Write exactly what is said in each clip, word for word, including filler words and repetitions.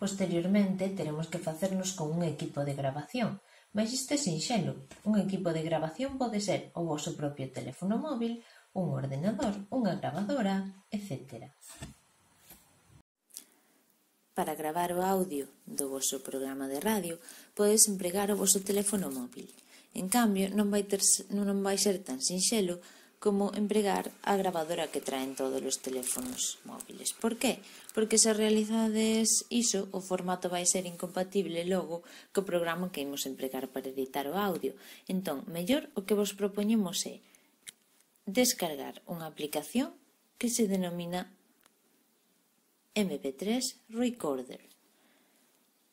Posteriormente, teremos que facernos con un equipo de grabación, mais isto é sinxelo. Un equipo de grabación pode ser o voso propio teléfono móvil, un ordenador, unha gravadora, etcétera. Para gravar o audio do voso programa de radio, podes empregar o voso teléfono móvil. En cambio, non vai, ter, non vai ser tan sinxelo como empregar a gravadora que traen todos os teléfonos móviles. Por qué? Porque se realizades iso, o formato vai ser incompatible logo co programa que imos empregar para editar o audio. Entón, mellor o que vos propoñemos é descargar unha aplicación que se denomina eme pe tres Recorder.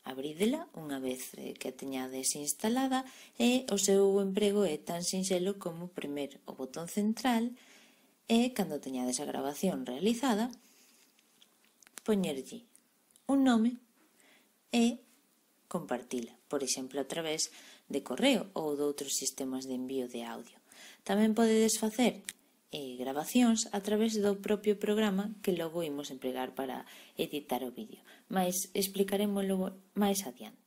Abrídela unha vez que a teñades instalada e o seu emprego é tan sinxelo como premer o botón central e, cando teñades a grabación realizada, poñerlle un nome e compartila, por exemplo, a través de correo ou de outros sistemas de envío de audio. Tamén podedes facer eh, grabacións a través do propio programa que logo imos empregar para editar o vídeo, mas explicaremoslo máis adiante.